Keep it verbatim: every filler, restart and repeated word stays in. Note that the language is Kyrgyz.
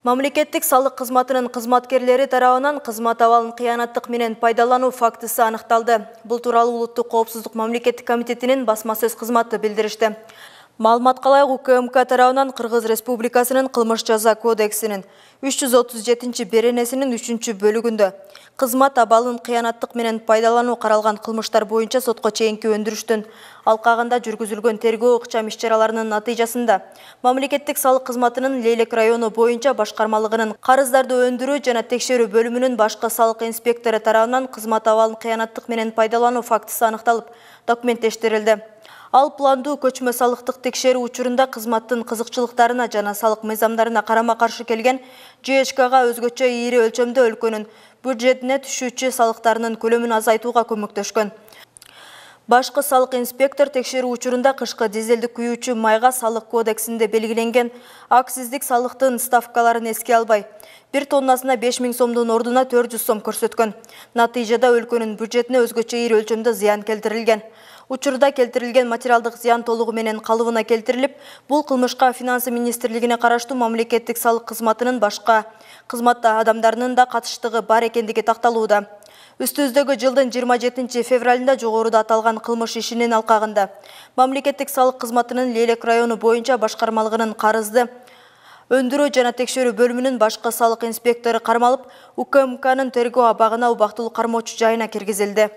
Мамлекеттик салык кызматынын кызматкерлери тарабынан кызмат абалын кыянаттык менен пайдалануу фактысы аныкталды. Бул тууралуу Улуттук коопсуздук мамлекеттик комитетинин басма сөз кызматы билдиришти. Маалыматка ылайык УКМК тарабынан Кыргыз Республикасынын кылмыш жаза кодексинин үч жүз отуз жетинчи беренесинин үчүнчү бөлүгүндө кызмат абалын кыянаттык менен пайдалануу каралган кылмыштар боюнча сотко чейинки өндүрүштүн алкагында жүргүзүлгөн тергөө ыкчам иш-чараларынын натыйжасында мамлекеттик салык кызматынын Лейлек району боюнча башкармалыгынын карыздарды өндүрүү жана текшерүү бөлүмүнүн башкы салык инспектору тарабынан кызмат абалын кыянаттык менен пайдалануу фактысы аныкталып, документтештирилди. Ал пландуу көчмө салыктык текшерүү учурунда кызматтын кызыкчылыктарына жана салык мыйзамдарына карама-каршы келген ЖЭЧКга өзгөчө ийри өлчөмдө өлкөнүн бюджетине түшүүчү салыктарынын көлөмүн азайтууга көмөктөшкөн. Башкы салык инспектор текшерүү учурунда кышкы дизелдик күйүүчү майга салык кодексинде белгиленген акциздик салыктын ставкаларын эске албай, бир тоннасына беш миң сомдун ордуна төрт жүз сом көрсөткөн. Натыйжада өлкөнүн бюджетине өзгөчө ийри өлчөмдө зыян келтирилген. Учурда келтирилген материалдык зыян толугу менен калыбына келтирилип, бул кылмышка Финансы министрлигине караштуу мамлекеттик салык кызматынын башка кызмат адамдарынын да катыштыгы бар экендиги такталууда. Үстүбүздөгү жылдын жыйырма жетинчи февралында жогоруда аталган кылмыш ишинин алкагында мамлекеттик салык кызматынын Лейлек району боюнча башкармалыгынын карызды өндүрүү жана текшерүү бөлүмүнүн башкы салык инспектору кармалып, УКМКнын тергөө абагына убактылуу кармоочу жайына киргизилди.